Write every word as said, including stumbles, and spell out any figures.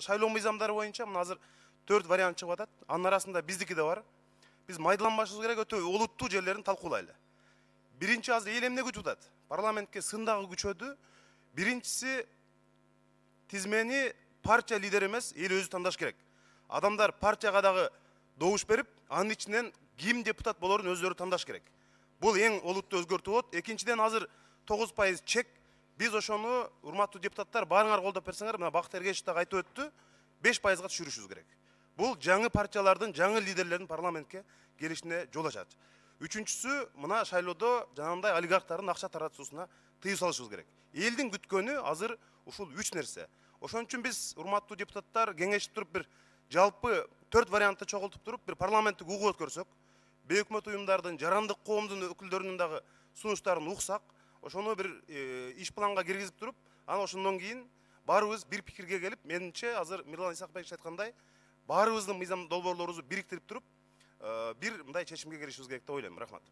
шайлоо мыйзамдары боюнча мына азыр төрт вариант чыгып атат. Анын арасында биздики да бар. Биз майдаланбашыбыз керек, өтө олуттуу жерлерин талкуулайлы. Биринчи азыр эл эмне күтүп атат? Парламентке сын дагы күчөдү. Биринчиси тизмени партия лидери эмес, эл өзү тандаш керек. Адамдар партияга дагы добуш берип, анын ичинен ким депутат болорун өздөрү тандаш керек. Бул эң олуттуу өзгөртүү болот. Экинчиден азыр тогуз пайыз чек. Биз ошону, урматтуу депутаттар, баарыңар колдоп берсеңер, мына Бакыт Эргешев дагы айтып өттү, беш пайызга түшүрүшүбүз керек. Бул жаңы партиялардын, жаңы лидерлердин парламентке келишине жол ачат. Үчүнчүсү, мына шайлоодо жанагындай олигархтардын акча таратуусуна тыюу салышыбыз керек. Элдин күткөнү азыр ушул үч нерсе. Ошон үчүн биз, урматтуу депутаттар, кеңешип туруп бир жалпы төрт вариантты чогултуп туруп, бир парламенттик угуу өткөрсөк, бейөкмөт уюмдардын, жарандык коомдун өкүлдөрүнүн дагы сунуштарын уксак, ошону бир иш планга киргизип туруп, анан ошондон кийин баарыбыз бир пикирге келип, менимче азыр Мирлан Исакбекович айткандай, баарыбыздын мыйзам долбоорлорубузду бириктирип туруп, бир мындай чечимге келишибиз керек деп ойлойм. Рахмат.